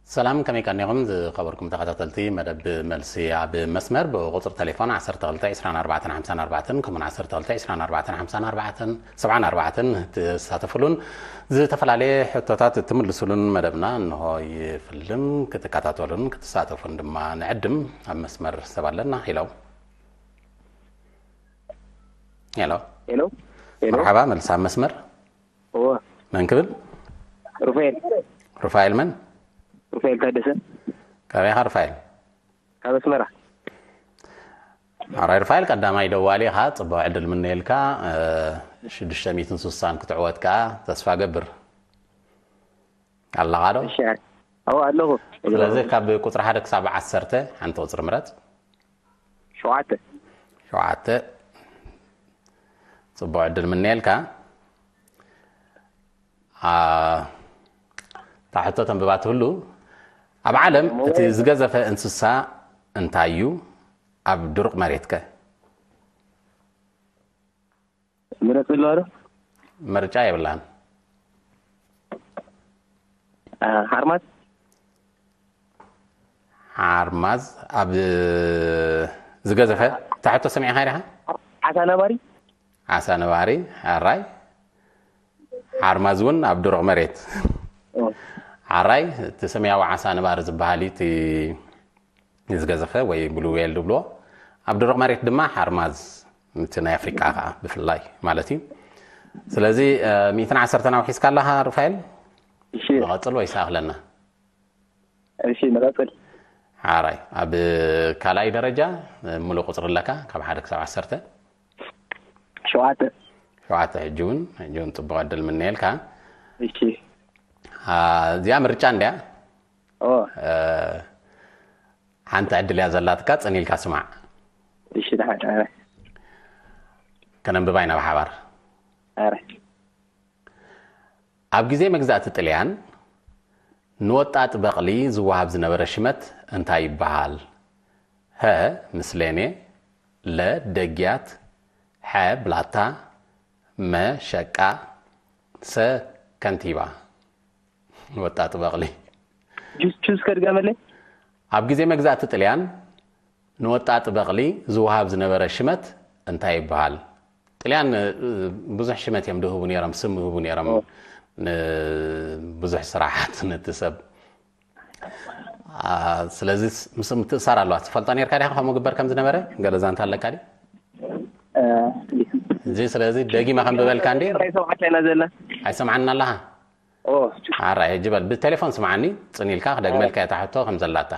ሰላም፣ ከመይ ቀኒኹም ዝኸበርኩም ተኸታተልቲ መደብ መልሲ ኣብ መስመር? ብቁጽሪ ቴሌፎን ዓሰርተ ክልተ ዕስራን ኣርባዕተን ሓምሳን ኣርባዕተን ከምኡን ዓሰርተ ክልተ ዕስራን ኣርባዕተን ሓምሳን ኣርባዕተን ሰብዓን ኣርባዕተን ትሳተፉሉን ዝተፈላለየ ሕቶታት ትምልሱሉን መደብና እንሆ ይፍልም። ክትከታተሉን ክትሳተፉን ድማ ንዕድም። ኣብ መስመር ሰብ ኣለና። ሄሎ። ሄሎ። ሄሎ። ሄሎ። መርሓባ፣ መልሲ ኣብ መስመር። እዎ። መን ክብል? ሩፋኤል። ሩፋኤል መን? ሩፋኤል ታደሰ። ካበይ ኢኻ ሩፋኤል? ካብ ኣስመራ። ኣራይ ሩፋኤል፣ ቀዳማይ ደዋሊ ኢኻ፣ ጽቡቕ ዕድል ምነየልካ። እ፣ ሽዱሽተ ሚእትን ስሳን ክትዕወት ከኣ ተስፋ ገብር። ኣለኻ ዶ? እሺ። ኣዎ ኣለኹ። ስለዚ ካብ ቁጽሪ ሓደ ክሳብ ዓሰርተ ሓንቲ ቁጽሪ ምረጽ። ሸውዓተ። ሸውዓተ። ጽቡቕ ዕድል ምነየልካ። አ፣ እታ ሕቶ ተንብባ ትህሉ፣ ኣብ ዓለም እቲ ዝገዘፈ እንስሳ እንታይ እዩ? ኣብ ድሩቕ መሬት ከ? ምረጽ ኣለዋ ዶ? ምርጫ የብላን። አ፣ ሓርማዝ። ሓርማዝ ኣብ ዝገዘፈ፣ እታ ሕቶ ሰሚዕኻ ዲኻ? ዓሳ ነባሪ። ዓሳ ነባሪ። ኣራይ። ሓርማዝ እውን ኣብ ድሩቕ መሬት። ኦ። ኣራይ፣ እቲ ሰማያዊ ዓሳ ነባሪ ዝበሃል እዩ፣ እቲ ዝገዘፈ ወይ ብሉ ዌል ዝብልዎ። ኣብ ድሩቕ መሬት ድማ ሓርማዝ፣ እቲ ናይ ኣፍሪቃ ከዓ ብፍላይ ማለት እዩ። ስለዚ፣ እ፣ ሚእትን ዓሰርተን ኣውሒስካ ኣለኻ ሩፋኤል? እሺ። ንቐጽል ወይስ ኣኽለና? እሺ፣ ንቐጽል። ሓራይ፣ ኣብ ካልኣይ ደረጃ ሙሉእ ቁጽሪ ኣለካ፣ ካብ ሓደ ክሳብ ዓሰርተ? ሸውዓተ። ሸውዓተ። ሕጂ እውን፣ ሕጂ እውን ጽቡቕ ዕድል ምነየልካ። እሺ። አ፣ እዚኣ ምርጫ እንድያ። ኦ። እ፣ ሓንቲ ዕድል እያ ዘላትካ፣ ጽን ኢልካ ስማዕ። እሺ፣ ደሓን። ኣረ። ከነንብባ ኢና ብሓባር። ኣረ። ኣብ ግዜ መግዛእቲ ጥልያን ንወጣጥ በቕሊ ዝወሃብ ዝነበረ ሽመት እንታይ ይበሃል? ሀ ምስሌኔ፣ ለ ደግያት፣ ሐ ብላታ፣ መ ሸቃ፣ ሰ ከንቲባ። ወጣጥ በቕሊ። ጁስ ጁስ ከድገመለይ። ኣብ ግዜ መግዛእቲ ጥልያን ንወጣጥ በቕሊ ዝወሃብ ዝነበረ ሽመት እንታይ ይበሃል? ጥልያን፣ እ፣ ብዙሕ ሽመት እዮም ዝህቡ ነይሮም፣ ስም ይህቡ ነይሮም። ኦ። ን-፣ ብዙሕ ስራሓት ነቲ ሰብ። አ፣ ስለዚ ስ-፣ ምስ ምትእሳር ኣለዋ። ትፈልጦ ነርካ ዲኻ ከምኡ ግበር ከም ዝነበረ? ገለ ዛንታ ኣለካ ድዩ? እ፣ እዚ ስለዚ ደጊመ ከንብበልካ እንዴ? ናይ ሰብዓተ ኢና ዘለና። ኣይሰምዓና ኣለኻ? ኦ። ኣራይ፣ ሕጂ በል፣ ብቴሌፎን ስምዓኒ፣ ጽን ኢልካ ክደግመልካ እታ ሕቶ ከም ዘላታ።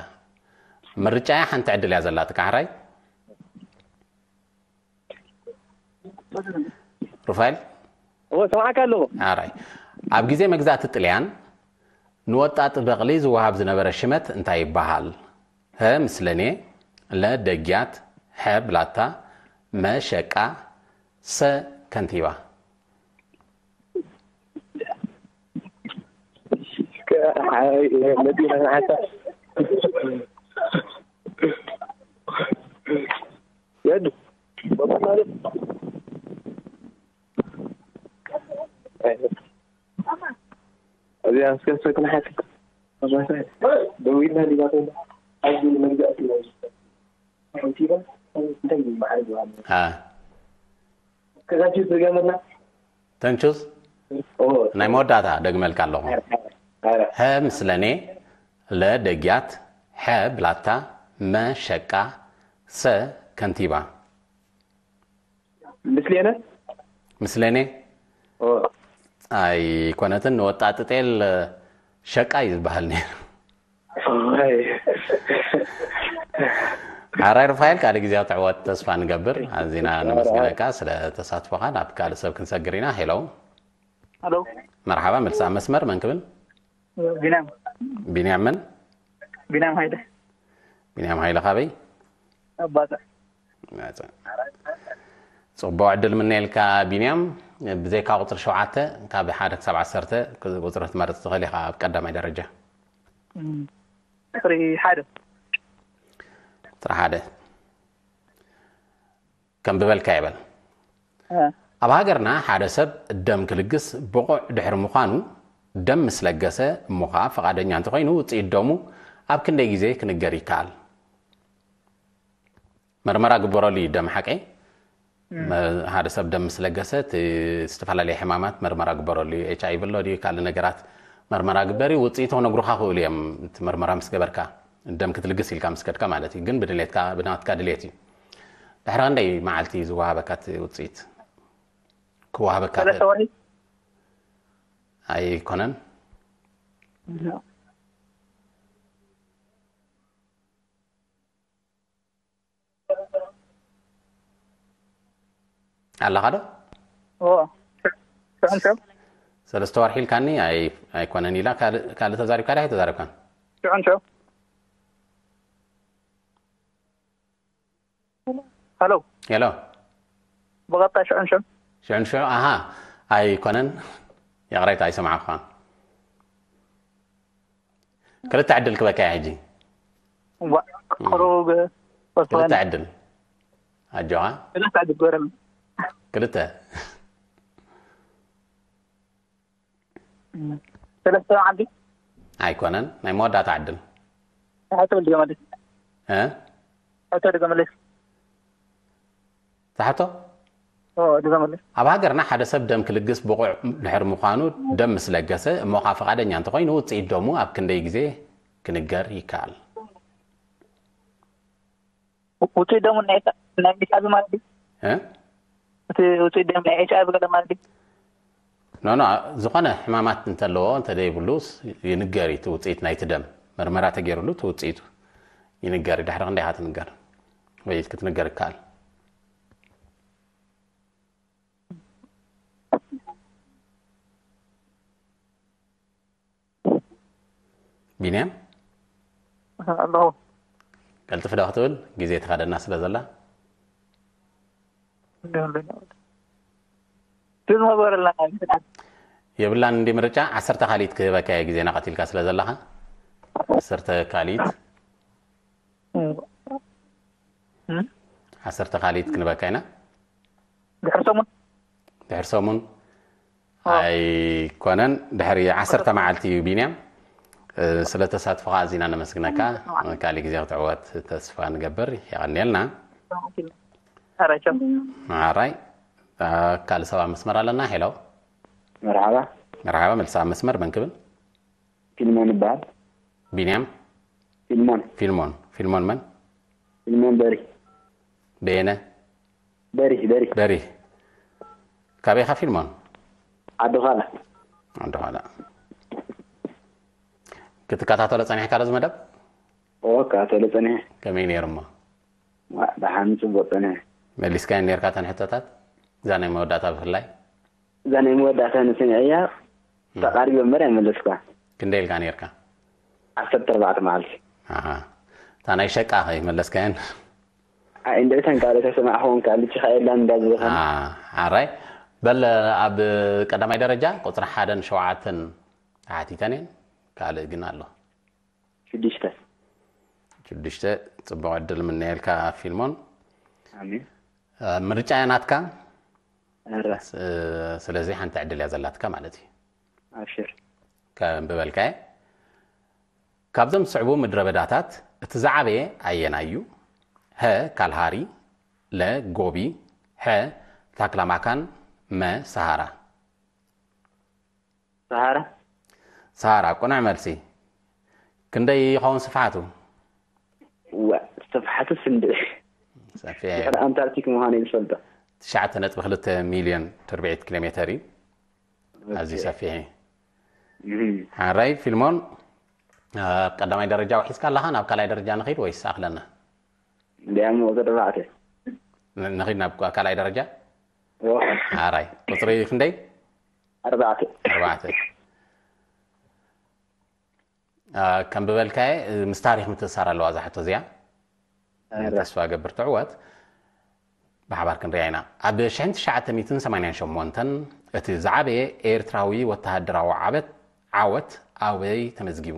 ምርጫያ ሓንቲ ዕድል እያ ዘላትካ፣ ሕራይ? ሩፋኤል? ኦ፣ ሰምዓካ ኣለኹ። ኣራይ። ኣብ ግዜ መግዛእቲ ጥልያን ንወጣጥ በቕሊ ዝወሃብ ዝነበረ ሽመት እንታይ ይበሃል? ሀ ምስለኔ፣ ለ ደግያት፣ ሐ ብላታ፣ መ ሸቃ፣ ሰ ከንቲባ። የዱ። እዚኣ እስከ ሰክና ሓቲ። ደዊልና ዲባቶ። ኣብዚ መግዛእቲ። ከንቲባ እንታይ ይበሃል? አ። ከዛችሁ ትገምርና? ተንቹስ? ኦ። ናይ መወዳእታ ደግመልካ ኣለኹ። ኣረ። ሀ ምስለኔ፣ ለ ደግያት፣ ሐ ብላታ፣ መ ሸቃ፣ ሰ ከንቲባ። ምስሌነ? ምስለኔ? ኦ። ኣይኮነትን፣ ንወጣጥጤል ሸቃ እዩ ዝበሃል ነይሩ። ኣይ። ሓራይ ሩፋኤል፣ ካልእ ግዜ ትዕወት ተስፋ ንገብር። ኣዚና ነመስግነካ ስለ ተሳትፎኻ። ናብ ካልእ ሰብ ክንሰግር ኢና። ሄሎ። ሄሎ። መርሓባ፣ መልሲ ኣብ መስመር። መን ክብል? ቢንያም። ቢንያም መን? ቢንያም ሃይለ። ቢንያም ሃይለ ካበይ? ኣባተ። መጸ። ጽቡቕ ዕድል ምነየልካ ቢንያም። ብዘይካ ቁጽሪ ሸውዓተ፣ ካብ ሓደ ክሳብ ዓሰርተ ቁጽሪ ክትመርጽ ትኽእል ኢኻ ኣብ ቀዳማይ ደረጃ። እም፣ ቁጽሪ ሓደ። ቁጽሪ ሓደ። ከንብበልካ ይበል። እ። ኣብ ሃገርና ሓደ ሰብ ደም ክልግስ ብቑዕ ድሕሪ ምዃኑ፣ ደም ምስ ለገሰ እሞ ኸዓ ፈቓደኛ እንተኾይኑ ውፅኢት ደሙ ኣብ ክንደይ ግዜ ክንገር ይከኣል? መርመራ ግበረሉ እዩ ደም ሓቀይ። መ- ሓደ ሰብ ደም ምስ ለገሰ እቲ ዝተፈላለየ ሕማማት መርመራ ግበረሉ እዩ። ኤች ኣይ ቪ ኣሎ ድዩ ካልእ ነገራት መርመራ ግበር እዩ። ውፅኢቱ ክነግሩኻ ክእሉ እዮም። እቲ መርመራ ምስ ገበርካ ደም ክትልግስ ኢልካ ምስ ከድካ ማለት እዩ። ግን ብድሌትካ ብናትካ ድሌት እዩ። ድሕሪ ክንደይ መዓልቲ እዩ ዝወሃበካ እቲ ውፅኢት? ክወሃበካ ሰለስተ ወርሒ ኣይኮነን። ኣለኻ ዶ? ኦ፣ ሽዑን ሰብ ሰለስተ ወርሒ ኢልካኒ ኣይ ኣይኮነን ኢላ ካልእ ካልእ ተዛሪብካ ዳ ኣይተዛሪብካን? ሽዑን ሰብ ሃሎ ሄሎ ብቐጣ ሽዑን ሰብ ሽዑን ሽዑ ኣሃ ኣይኮነን። ይቕሬታ ኣይሰማዕኳን። ክልተ ዕድል ክበካ እየ ሕጂ። ዋ፣ ቅሩብ ክልተ ዕድል ኣጆኻ። ክልተ ዕድል ግበረኒ። ክልተ ሰለስተ መዓልቲ ኣይኮነን ናይ መወዳእታ ዕድል። ሕቶ ድገመልስ እ ሕቶ ድገመልስ ትሓቶ ኦ ድገመልስ ኣብ ሃገርና ሓደ ሰብ ደም ክልግስ ብቑዕ ድሕሪ ምዃኑ ደም ምስ ለገሰ እሞ ኸዓ ፈቓደኛ እንተኾይኑ ውፅኢት ደሙ ኣብ ክንደይ ግዜ ክንገር ይከኣል? ውፅኢት ደሙ ናይ ናይ ኤች ኣይ ቪ ማለት ድዩ? እ? እቲ ውፅኢት ደም ናይ ኤች ኣይ ቪ ገለ ማለት ድዩ? ኖ ኖ ዝኾነ ሕማማት እንተለዎ እንተደይብሉ ይንገር እዩ እቲ ውፅኢት ናይቲ ደም መርመራ ተገይሩሉ እቲ ውፅኢቱ ይንገር እዩ። ድሕሪ ክንደይ ኢኻ ትንገር ወይ ክትንገር ይከኣል? ቢንያም ኣለኹ። ቀልጥፍ ዶ ክትብል ግዜ ተኻደና ስለ ዘላ ትዝመበረልና የብላን እንዲ ምርጫ ዓሰርተ ካሊት ክህበካ እየ ግዜና ቀቲልካ ስለ ዘለኻ ዓሰርተ ካሊት ዓሰርተ ካሊት ክንበካ ኢና ድሕር ሰሙን ድሕር ሰሙን ኣይኮነን ድሕሪ ዓሰርተ መዓልቲ እዩ ቢንያም ስለ ተሳትፎኻ ኣዚና ነመስግነካ ካልእ ግዜ ክትዕወት ተስፋ ንገብር የቐንየልና ኣራይ ካልእ ሰብ ኣብ መስመር ኣለና ሄሎ መርሓባ መርሓባ መልሳ ኣብ መስመር መን ክብል ፊልሞን ይበሃል ቢንያም ፊልሞን ፊልሞን ፊልሞን መን ፊልሞን በሪ በየነ በሪ በሪ በሪ ካበይ ኢኻ ፊልሞን ዓዲ ዃላ ዓዲ ዃላ ክትከታተሎ ጸኒሕካ ዶ ዝመደብ ኦ እከታተሎ ጸኒሐ ከመይ ነይሩ እሞ ደሓን ጽቡቕ ጸኒሐ መሊስካዮ ነርካ ተን ሕቶታት እዛ ናይ መወዳእታ ብፍላይ እዛ ናይ መወዳእታ ንስምዐያ ተቓሪበ እምበር ኣይመለስኳ ክንደይ ኢልካ ነርካ ዓሰርተ ኣርባዕተ መዓልቲ ኣሃ እታ ናይ ሸቃ ከይመለስካየን ኣይ እንድዒ ተን ካልእ ተሰማዕኹም ካልእ ጭኻ የላን እንዳዝበኸን ኣራይ በል ኣብ ቀዳማይ ደረጃ ቁፅሪ ሓደን ሸውዓተን ተሓቲተን እየን ካልእ ግን ኣሎ ሽዱሽተ ሽዱሽተ ጽቡቕ ዕድል ምነየልካ ፊልሞን ኣሜን ምርጫ እያ ናትካ ኧረ ስለዚ ሓንቲ ዕድል እያ ዘላትካ ማለት እዩ ኣብሽር ከንብበልካ እየ ካብዞም ዝስዕቡ ምድረ በዳታት እቲ ዝዓበየ ኣየናይ እዩ ሀ ካልሃሪ ለ ጎቢ ሐ ታክላማካን መ ሰሃራ ሰሃራ ሰሃራ ቅኑዕ መልሲ ክንደይ ይኸውን ስፍሓቱ ዋ ስፍሓቱ ስንድዒ ሰፊሕ ድሕሪ ኣንታርክቲክ ምዃኑ እዩ ዝፈልጦ ትሽዓተ ነጥቢ ክልተ ሚልዮን ትርብዒት ኪሎ ሜተር እዩ ኣዝዩ ሰፊሕ እዩ ሓራይ ፊልሞን ኣብ ቀዳማይ ደረጃ ውሒዝካ ኣለኻ ናብ ካልኣይ ደረጃ ንኺድ ወይስ ኣኽለና እንዲያም ወደ ተባዕተ ንኺድ ናብ ካልኣይ ደረጃ ሓራይ ቁፅሪ ክንደይ ኣርባዕተ ኣርባዕተ ከም ብበልካየ ምስ ታሪክ ምትእሳር ኣለዋ እዛ ሕቶ እዚኣ ተስፋ ገብር ትዕወት ብሓባር ክንሪኣ ኢና ኣብ ሽሕን ትሽዓተ ሚእትን ሰማንያን ሸሞንተን እቲ ዝዓበየ ኤርትራዊ ወተሃደራዊ ዓበት ዓወት ኣበይ ተመዝጊቡ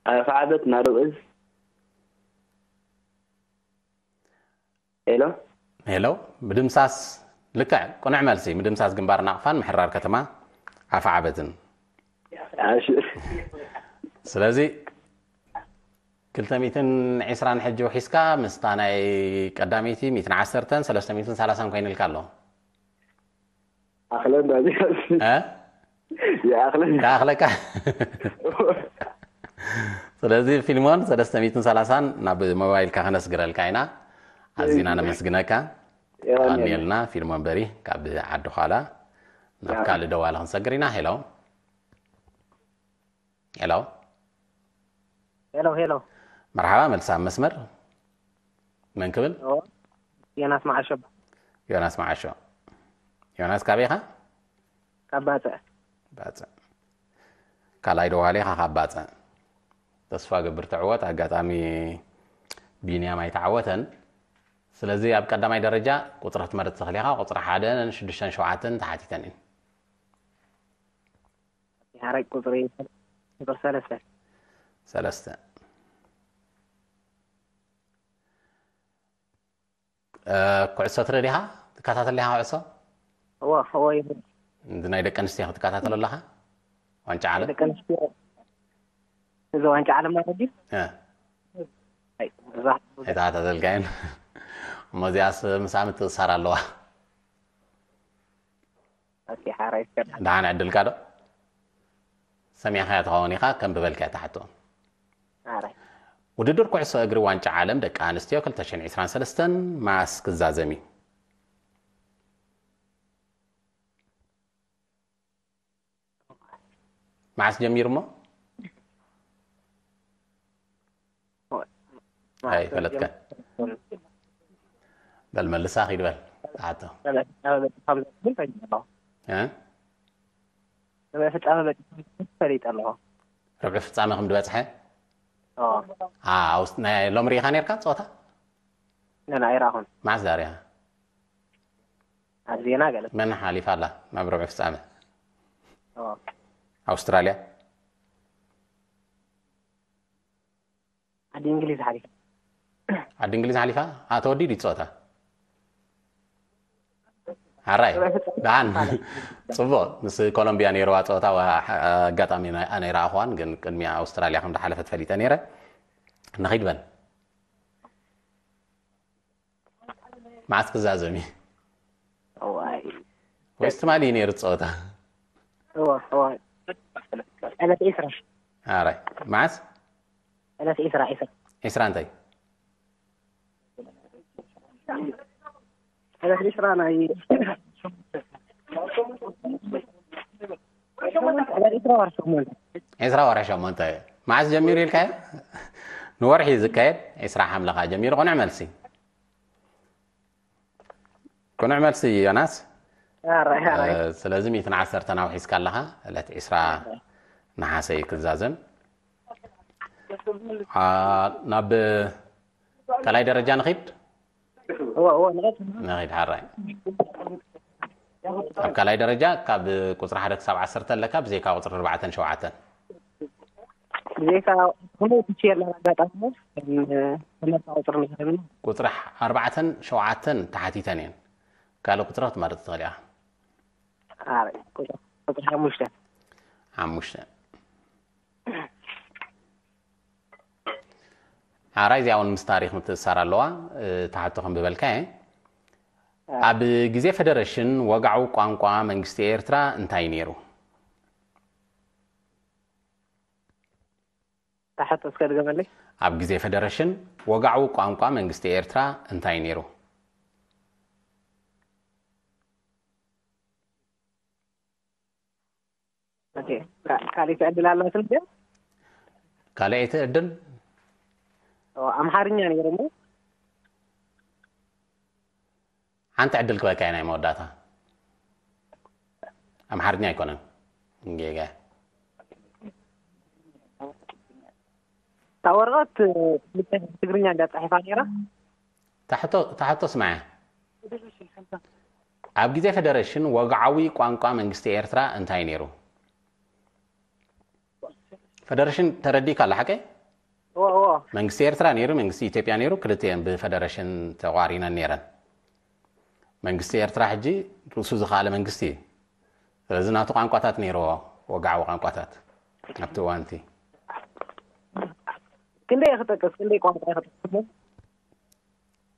ኣፈዓበት ናደው እዝ ሄሎ ሄሎ ብድምሳስ ልክዕ፣ ቅኑዕ መልሲ። ምድምሳስ ግንባር ናቕፋን ምሕራር ከተማ ኣፍዓበትን። እሺ። ስለዚ ክልተ ሚእትን ዕስራን ሕጂ ውሒስካ ምስታ ናይ ቀዳመይቲ ሚእትን ዓሰርተን ሰለስተ ሚእትን ሰላሳን ኮይንልካ ኣሎ። ኣኽለና እዚኣ እ? ይኣኽለና። ይኣኽለካ። ስለዚ ፊልሞን ሰለስተ ሚእትን ሰላሳን ናብ ሞባይልካ ከነስግረልካ ኢና። ኣዚና ነመስግነካ። የቐንየልና። ቀንየልና ፊልሞን በሪ ካብ ዓዲ ዃላ ናብ ካልእ ደዋለ ክንሰግር ኢና። ሄሎ፣ ሄሎ። ሄሎ ሄሎ። መርሓባ፣ መልሳ ኣብ መስመር። መን ክብል? ኦ፣ ዮናስ መዓሾ። ዮናስ መዓሾ። ዮናስ፣ ካበይ ኢኻ? ካብ ባጽዕ። ባጽዕ። ካልኣይ ደዋሊ ኢኻ ካብ ባጽዕ። ተስፋ ገብር ትዕወት። ኣጋጣሚ ቢንያም ኣይተዓወተን። ስለዚ ኣብ ቀዳማይ ደረጃ ቁጽሪ ክትመርጽ ትኽእል ኢኻ። ቁጽሪ ሓደን ሽዱሽተን ሸውዓተን ተሓቲተን እየን። ሓራይ ቁጽሪ ቁጽሪ ሰለስተ። ሰለስተ። እ፣ ኩዕሶ ትርኢ ዲኻ? ትከታተል ዲኻ ኩዕሶ? እዎ እዎ ይብል። እዚ ናይ ደቂ ኣንስትዮ ክትከታተሎ ኣለኻ? ዋንጫ ዓለም? ደቂ ኣንስትዮ እዚ ዋንጫ ዓለም ማለት ድዩ? እ፣ ኣይ፣ እዛ ኣይተኸታተልካየን። እሞ እዚኣስ ምሳኣ ምትእስሳር ኣለዋ። ኣቲ ሓራይ ይስከር። ደሓን ዕድልካ ዶ? ሰሚዕካያ ትኸውን ኢኻ፣ ከንብበልካ እታ ሕቶ። ሓራይ። ውድድር ኩዕሶ እግሪ ዋንጫ ዓለም ደቂ ኣንስትዮ ክልተ ሽሕን ዕስራን ሰለስተን መዓስ ክዛዘም እዩ? መዓስ ጀሚሩ እሞ? ኣይፈለጥካን። በል መልሳ ኺድ በል። ተሓቶ። ሰበ ፍጻመ በጺሑ እ? ሰበ ፍጻመ በጺሑ ፈሊጠ ኣለኹ። ርብዒ ፍጻመ ከም ዝበጽሐ? ኦ፣ አ፣ ኣውስ-፣ ናይ ሎሚ ርኢኻ ነርካ ጸወታ? ነና ኣይረኣኹን። መዓስ ዳርያ? ኣብ ዜና ገለ። መን ሓሊፋ ኣላ ናብ ርብዒ ፍጻመ? ኦ፣ ኣውስትራልያ? ዓዲ እንግሊዝ ሓሊፋ። ዓዲ እንግሊዝ ሓሊፋ? ኣ፣ ተወዲኡ ድዩ ጸወታ? ሓራይ። ደሓን። ጽቡቕ። ምስ ኮሎምቢያ ነይርዋ ጸወታ፣ ዋ-፣ ኣጋጣሚ ናይ-፣ ኣነ ኣይረኣኹዋን፣ ግን ቅድሚያ ኣውስትራልያ ከም ዝሓለፈት ፈሊጠ ነይረ። ንኺድ በል። መዓስ ክዛዘም እዩ? እዋይ። ወይስ ትማሊ እዩ ነይሩ ጸወታ? እዋ፣ እዋ። ዕለት ዒስራ። ሓራይ። መዓስ? ዕለት ዒስራ፣ ዒስራ። ዒስራ እንታይ? ዕለት ዒስራ ናይ ዕለት ዒስራ ወርሒ ሸሞንተ። ዒስራ ወርሒ ሸሞንተ። መዓስ ጀሚሩ ኢልካዮ? ንወርሒ እዩ ዝካየድ፣ ዒስራ ሓምለ ኸኣ ጀሚሩ። ቅኑዕ መልሲ። ቅኑዕ መልሲ ዮናስ። ሓራይ፣ ሓራይ። እ፣ ስለዚ ሚእትን ዓሰርተን ኣውሒስካ ኣለኻ፣ ዕለት ዒስራ ነሓሰ እዩ ክዛዘም። አ፣ ናብ ካልኣይ ደረጃ ንኺድ? እዋ፣ እዋ፣ ንቐጽል። ንኺድ፣ ሓራይ። ኣብ ካልኣይ ደረጃ ካብ ቁጽሪ ሓደ ክሳብ ዓሰርተ ኣለካ፣ ብዘይካ ቁጽሪ ኣርባዕተን ሸውዓተን። ብዘይካ ከመይ ትችየላ ኣጋጣሚ፣ ተመርጻ ቁጽሪ ንገረኒ። ቁጽሪ ኣርባዕተን ሸውዓተን ተሓቲተን እየን። ካልእ ቁጽሪ ክትመርጽ ትኽእል ኢኻ። ሓራይ፣ ቁጽሪ፣ ቁጽሪ ሓሙሽተ። ሓሙሽተ። ሓራይ፣ እዚኣ እውን ምስ ታሪኽ ምትእስሳር ኣለዋ። እ፣ እታ ሕቶ ከንብበልካ እየ። ኣብ ግዜ ፈደረሽን ወግዓዊ ቋንቋ መንግስቲ ኤርትራ እንታይ ነይሩ? እታ ሕቶ እስከ ድገመለይ። ኣብ ግዜ ፈደረሽን ወግዓዊ ቋንቋ መንግስቲ ኤርትራ እንታይ ነይሩ? ኦኬ፣ ካ-፣ ካልእ ዕድል ኣላትን ድያ? ካልኣይቲ ዕድል? ኦ፣ ኣምሓርኛ ነይሩ እሞ። ሓንቲ ዕድል ክበካ እየ ናይ መወዳእታ። ኣምሓርኛ ኣይኮነን። ጌጋ። እታ ወረቐት ትግርኛ እንዳ ጻሒፋ ነይራ። ታሕቶ፣ ታሕቶ ስማያ። ኣብ ግዜ ፈደረሽን ወግዓዊ ቋንቋ መንግስቲ ኤርትራ እንታይ ነይሩ? ፈደረሽን ተረዲእካ ኣሎ ሓቀይ? እዎ፣ እዎ። መንግስቲ ኤርትራ ነይሩ፣ መንግስቲ ኢትዮጵያ ነይሩ፣ ክልቲኤን ብፈደረሽን ተቋሪነን ነይረን። መንግስቲ ኤርትራ ሕጂ ርእሱ ዝኸኣለ መንግስቲ እዩ። ስለዚ ናቱ ቋንቋታት ነይርዎ፣ ወግዓዊ ቋንቋታት ኣብቲ እዋን እቲ። ክንደይ ክጠቅስ፣ ክንደይ ቋንቋ ክጠቅስ?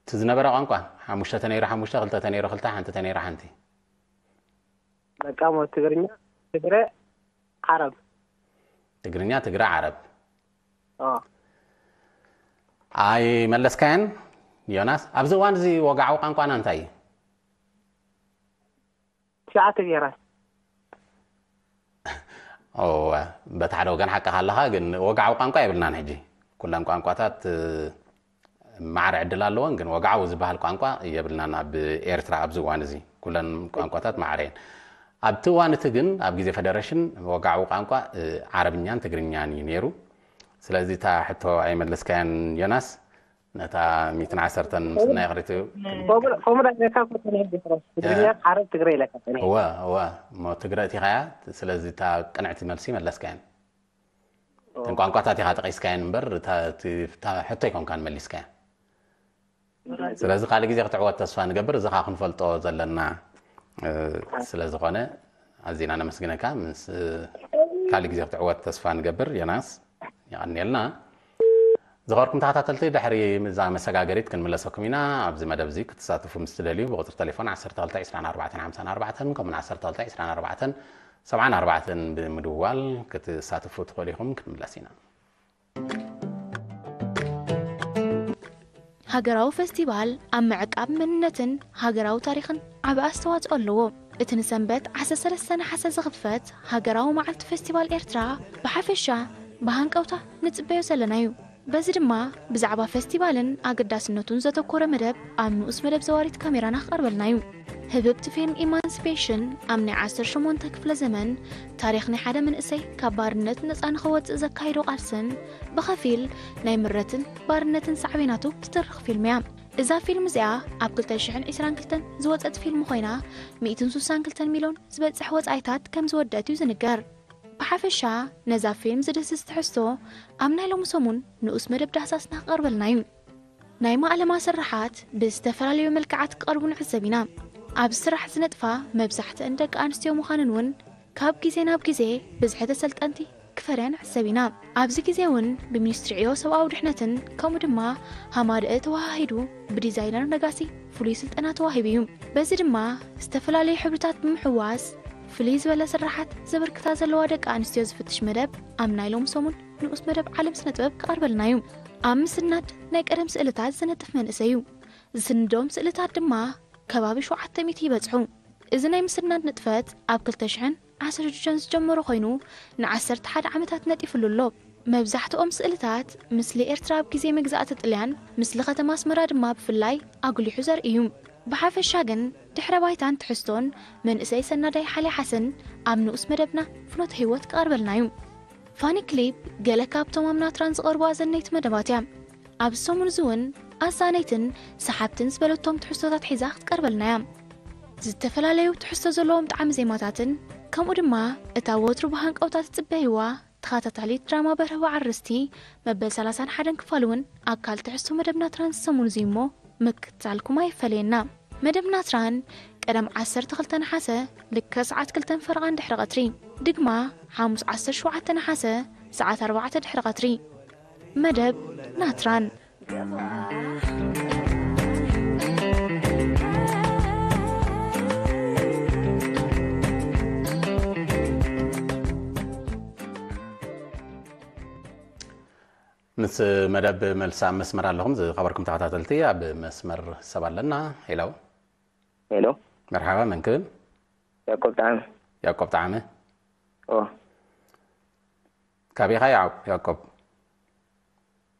እቲ ዝነበረ ቋንቋ ሓሙሽተ ተነይሩ ሓሙሽተ፣ ክልተ ተነይሩ ክልተ፣ ሓንቲ ተነይሩ ሓንቲ። በቃ ሞ ትግርኛ፣ ትግረ፣ ዓረብ። ትግርኛ፣ ትግረ፣ ዓረብ። ኦ ኣይመለስካያን ዮናስ? ኣብዚ እዋን እዚ ወግዓዊ ቋንቋና እንታይ እዩ? ትሽዓተ ብሄራት። እወ፣ በቲ ሓደ ወገን ሓቅኻ ኣለኻ፣ ግን ወግዓዊ ቋንቋ የብልናን ሕጂ። ኩለን ቋንቋታት እ፣ ማዕረ ዕድል ኣለወን፣ ግን ወግዓዊ ዝበሃል ቋንቋ የብልናን ኣብ ኤርትራ ኣብዚ እዋን እዚ። ኩለን ቋንቋታት ማዕረ እየን። ኣብቲ እዋን እቲ ግን ኣብ ግዜ ፈደረሽን ወግዓዊ ቋንቋ እ፣ ዓረብኛን ትግርኛን እዩ ነይሩ። ስለዚ እታ ሕቶ ኣይመለስካያን ዮናስ፣ ነታ ሚእትን ዓሰርተን ምስናይ ክሪቱ ከምኡ ዳይካ ትግርኛ ዓረብ ትግረ ኢለካ እወ እወ እሞ ትግረ እቲኻያ። ስለዚ እታ ቅንዕቲ መልሲ መለስካያን እተን ቋንቋታት ኢኻ ጠቂስካየን እምበር እታ- እቲ- እታ ሕቶ ኣይኮንካን መሊስካያ። ስለዚ ካልእ ግዜ ክትዕወት ተስፋ ንገብር። እዚ ኸዓ ክንፈልጦ ዘለና እ፣ ስለ ዝኾነ ኣዚና ነመስግነካ። ምስ እ፣ ካልእ ግዜ ክትዕወት ተስፋ ንገብር። ዮናስ የቐንየልና። ዝኸበርኩም ተኸታተልቲ፣ ድሕሪ እዛ መሰጋገሪት ክንምለሰኩም ኢና። ኣብዚ መደብ እዚ ክትሳተፉ ምስ ትደልዩ ብቁፅሪ ቴሌፎን ዓሰርተ ክልተ ዕስራን ኣርባዕተን ሓምሳን ኣርባዕተን ከምኡውን ዓሰርተ ክልተ ዕስራን ኣርባዕተን ሰብዓን ኣርባዕተን ብምድዋል ክትሳተፉ ትኽእሉ ኢኹም። ክንምለስ ኢና። ሃገራዊ ፈስቲቫል ኣብ ምዕቃብ መንነትን ሃገራዊ ታሪኽን ዓቢ ኣስተዋጽኦ ኣለዎ። እቲ ንሰንበት ዓሰርተ ሰለስተ ነሓሰ ዝኽፈት ሃገራዊ መዓልቲ ፈስቲቫል ኤርትራ ብሓፈሻ ብሃንቀውታ ንጽበዮ ዘለና'ዩ። በዚ ድማ ብዛዕባ ፈስቲቫልን ኣገዳስነቱን ዘተኮረ መደብ ኣብ ንኡስ መደብ ዘዋሪት ካሜራና ክቐርበልና'ዩ። ህብብቲ ፊልም ኢማንሲፔሽን ኣብ ናይ ዓሰርተ ሸሞንተ ክፍለ ዘመን ታሪኽ ናይ ሓደ መንእሰይ ካብ ባርነት ነጻ ንኽወጽእ ዘካየዶ ቃልስን ብኸፊል ናይ ምረትን ባርነትን ሳዕቤናቱ ትትርኽ ፊልም እያ። እዛ ፊልም እዚኣ ኣብ ክልተ ሽሕን ዕስራን ክልተን ዝወጸት ፊልም ኮይና ሚእትን ስሳን ክልተን ሚልዮን ዝበጽሕ ወጻኢታት ከም ዝወደአት እዩ ዝንገር። ብሓፈሻ ነዛ ፊልም ዝድህስስ ትሕዝቶ ኣብ ናይ ሎሚ ሰሙን ንኡስ መደብ ዳህሳስና ክቐርበልና እዩ። ናይ ማእለማ ስርሓት ብዝተፈላለዩ መልክዓት ክቐርቡ ንዕዘብ ኢና። ኣብዚ ስራሕ ዝነጥፋ መብዛሕትአን ደቂ ኣንስትዮ ምዃነን እውን ካብ ግዜ ናብ ግዜ ብዝሒ ተሰልጠንቲ ክፈርያ ንዕዘብ ኢና። ኣብዚ ግዜ እውን ብሚኒስትሪ ዕዮ ሰብኣዊ ድሕነትን ከምኡ ድማ ሃማደአ ተወሃሂዱ ብዲዛይነር ነጋሲ ፍሉይ ስልጠና ተዋሂቡ እዩ። በዚ ድማ ዝተፈላለዩ ሕብርታት ብምሕዋስ ፍልይ ዝበለ ስርሓት ዘበርክታ ዘለዋ ደቂ ኣንስትዮ ዝፍትሽ መደብ ኣብ ናይ ሎም ሰሙን ንኡስ መደብ ዓለም ስነ ጥበብ ክቐርበልና እዩ። ኣብ ምስናድ ናይ ቀደም ስእልታት ዝነጥፍ መንእሰይ እዩ። ዝስንዶም ስእልታት ድማ ከባቢ ሸውዓተ ሚእቲ ይበጽሑ። እዚ ናይ ምስናድ ንጥፈት ኣብ ክልተ ሽሕን ዓሰርተ ሽዱሽተን ዝጀመረ ኮይኑ ንዓሰርተ ሓደ ዓመታት ነጢፍሉ ኣሎ። መብዛሕትኦም ስእልታት ምስሊ ኤርትራ ኣብ ግዜ መግዛእቲ ጥልያን፣ ምስሊ ከተማ ኣስመራ ድማ ብፍላይ ኣጉሊሑ ዘርኢ እዩ። ብሓፈሻ ግን ድሕረ ባይታን ትሕዝቶን መንእሰይ ሰናዳይ ሓልያ ሓሰን ኣብ ንኡስ መደብና ፍኖተ ህይወት ክቐርበልና እዩ። ፋኒ ክሊፕ ገለ ካብቶም ኣብ ናትራን ዝቐርቡ ኣዘነይቲ መደባት እያ። ኣብዚ ሰሙን እዚ እውን ኣዛነይትን ሰሓብትን ዝበለቶም ትሕዝቶታት ሒዛ ክትቀርበልና እያ። ዝተፈላለዩ ትሕዝቶ ዘለዎም ጣዕሚ ዜማታትን ከምኡ ድማ እታ ወትሩ ብሃንቀውታ ትጽበይዋ ተኸታታሊት ድራማ በርሀ በዓል ርስቲ መበል ሰላሳን ሓደን ክፋል እውን ኣካል ትሕዝቶ መደብ ናትራን ዝሰሙን እዚ እሞ ምክትታልኩም ኣይፈለየና። መደብ ናትራን ቀደም ዓሰርተ ክልተ ነሓሰ ልክዕ ሰዓት ክልተን ፈረቓን ድሕሪ ቐትሪ፣ ድግማ ሓሙስ ዓሰርተ ሸውዓተ ነሓሰ ሰዓት ኣርባዕተ ድሕሪ ቐትሪ። መደብ ናትራን። ምስ መደብ መልሲ ኣብ መስመር ኣለኹም ዝኸበርኩም ተኸታተልቲ። ኣብ መስመር ሰብ ኣለና። ሄሎ። ሄሎ። መርሓባ፣ መን ክብል? ያዕቆብ ጣዕመ። ያዕቆብ ጣዕመ። ኦ። ካበይ ኢኻ ያዕቆብ? ያዕቆብ።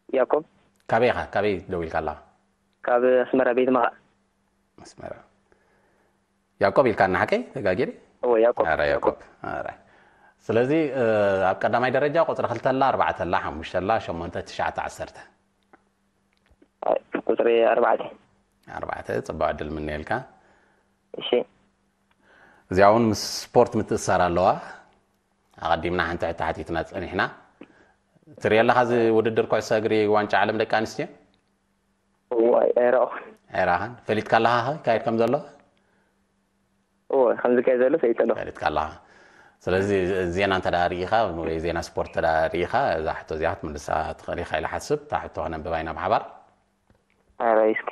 ያዕቆብ። ካበይ ኢኻ? ካበይ ደው ኢልካ ኣለኻ? ካብ ኣስመራ ቤት መቓ። ኣስመራ። ያዕቆብ ኢልካ እና ሓቀይ ተጋጊሪ? እወ፣ ያዕቆብ። ኣረ ያዕቆብ። ኣረ። ስለዚ እ፣ ኣብ ቀዳማይ ደረጃ ቁጽሪ ክልተ ኣላ፣ ኣርባዕተ ኣላ፣ ሓሙሽተ ኣላ፣ ሸሞንተ፣ ትሽዓተ፣ ዓሰርተ። ቁጽሪ ኣርባዕተ። ኣርባዕተ፣ ጽቡቕ ዕድል ምነየልካ። እሺ። እዚኣ እውን ምስ ስፖርት ምትእሳር ኣለዋ። ኣቐዲምና ሓንቲ ሕቶ ሓቲትና ጸኒሕና። ትሪኦ ኣለኻ እዚ ውድድር ኩዕሶ እግሪ ዋንጫ ዓለም ደቂ ኣንስትዮ? እዋይ፣ ኣይረኣኹን። ኣይረኣኻን? ፈሊጥካ ኣለኻ ኸ ይካየድ ከም ዘሎ? ከምዚ ከ ዘሎ ሰይጠሎ ፈሊጥካ ኣለኻ። ስለዚ ዜና እንተ ርኢኻ ወይ ዜና ስፖርት እንተ ርኢኻ እዛ ሕቶ እዚኣ ክትምልሳ ትኽእል ኢኻ ኢለ ሓስብ። እታ ሕቶ ክነንብባ ኢና ብሓባር። ኣራይ እስኪ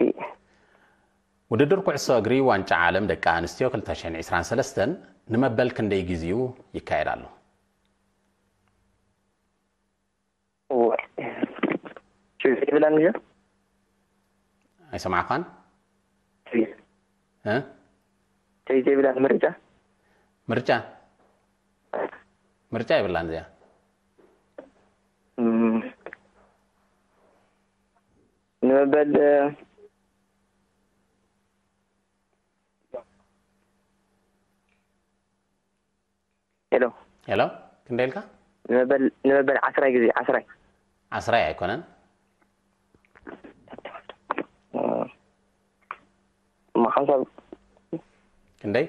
ውድድር ኩዕሶ እግሪ ዋንጫ ዓለም ደቂ ኣንስትዮ ክልተ ሽሕን ዕስራን ሰለስተን ንመበል ክንደይ ግዜኡ ይካየድ ኣሎ? ችግር ይብላን እዩ ኣይሰማዕኳን። እ? ችግር ይብላን ምርጫ ምርጫ ምርጫ ይብላን እዚኣ። እም፣ ንመበል ሄሎ ሄሎ፣ ክንደይ ኢልካ? ንመበል ንመበል ዓስራይ ግዜ ዓስራይ ዓስራይ ኣይኮነን። እማ ሓንሳብ ክንደይ?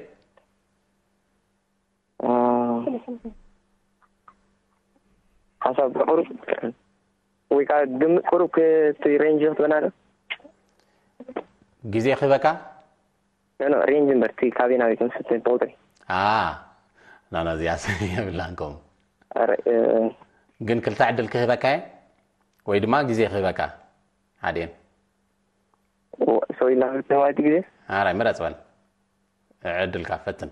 ሓንሳብ ቁሩብ ወይ ከዓ ግምት ቁሩብ እቲ ሬንጅ ክትበና ዶ ግዜ ክህበካ? ኖ ሬንጅ እምበር እቲ ካበይ ናበይ ክንስትን ቁጥሪ ኖ ኖ እዚኣ የብላን ከምኡ። ግን ክልተ ዕድል ክህበካ እየ ወይ ድማ ግዜ ክህበካ ሓደን ሰው ኢልና ክልተ ማለት ግዜ ኣራይ ምረፅ በል። ዕድልካ ፈትን።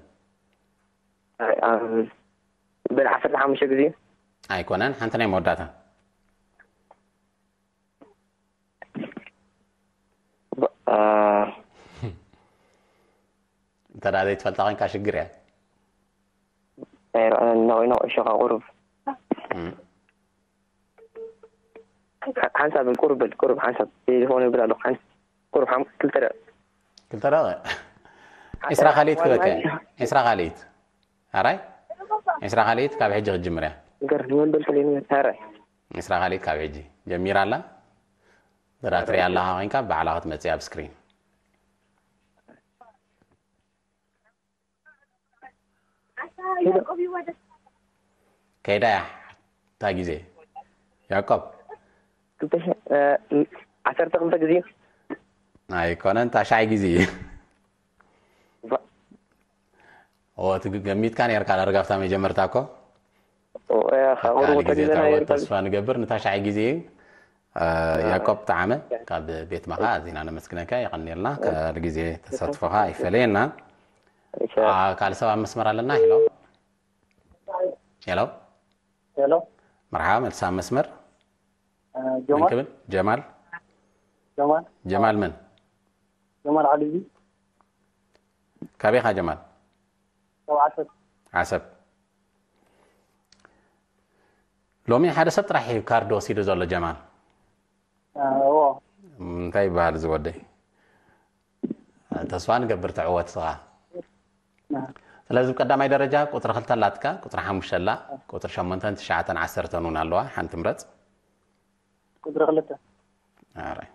በል ዓሰርተ ሓሙሽተ ግዜ ኣይኮነን ሓንቲ ናይ መወዳእታ እንተ ደኣ ዘይትፈልጣ ኮይንካ ሽግር እያ። ኣይረኣን እናኮይና ኩዕሾ ካብ ቁሩብ ሓንሳብ በል ቁሩብ በል ቁሩብ ሓንሳብ ቴሌፎን ይብል ኣለኹ ሓንስ ቁሩብ ሓም ክልተ ደቂቕ ክልተ ደቂቕ ዒስራ ካልኢት ክበከ ዒስራ ካልኢት ኣራይ ዒስራ ካልኢት ካብ ሕጂ ክትጅምር እያ። ገር ንመን በልክለይ ንመን ኣራይ ዒስራ ካልኢት ካብ ሕጂ ጀሚራ ኣላ። ደኣ ትሪኣ ኣለኻ ኮይንካ ባዕላ ክትመፅእ ኣብ ስክሪን ከይዳ እያ እታ ግዜ ያዕቆብ ዓሰርተ ክልተ ግዜ ኣይኮነን ታሽዓይ ግዜ እዩ ኦ እቲ ገሚትካ ነርካ ዳርጋ ኣብታ መጀመርታ እኮ ካብኡ ካልእ ግዜ ተጊዘና ትዕወት ነርካ ተስፋ ንገብር ንታሽዓይ ግዜ እዩ ያዕቆብ ጠዓመ ካብ ቤት መኻ ኣዚና ነመስግነካ የቐንየልና ካልእ ግዜ ተሳትፎኻ ይፈለየና ካልእ ሰብ ኣብ መስመር ኣለና ሄሎ ሄሎ ሄሎ መርሓባ መልሳ ኣብ መስመር መን ጀማል ክብል ጀማል ጀማል ጀማል መን ጀማል ዓሊ ካበይኻ ጀማል ካብ ዓሰብ ዓሰብ ሎሚ ሓደ ሰብ ጥራሕ እዩ ካርድ ወሲዱ ዘሎ ጀማል እዎ እንታይ ይበሃል እዚ ወደይ ተስፋ ንገብር ትዕወት ስኻ ስለዚ ብቀዳማይ ደረጃ ቁፅሪ ክልተ ኣላትካ ቁፅሪ ሓሙሽተ ኣላ ቁፅሪ ሸሞንተን ትሽዓተን ዓሰርተን እውን ኣለዋ ሓንቲ ምረፅ ቁፅሪ ክልተ ኣራይ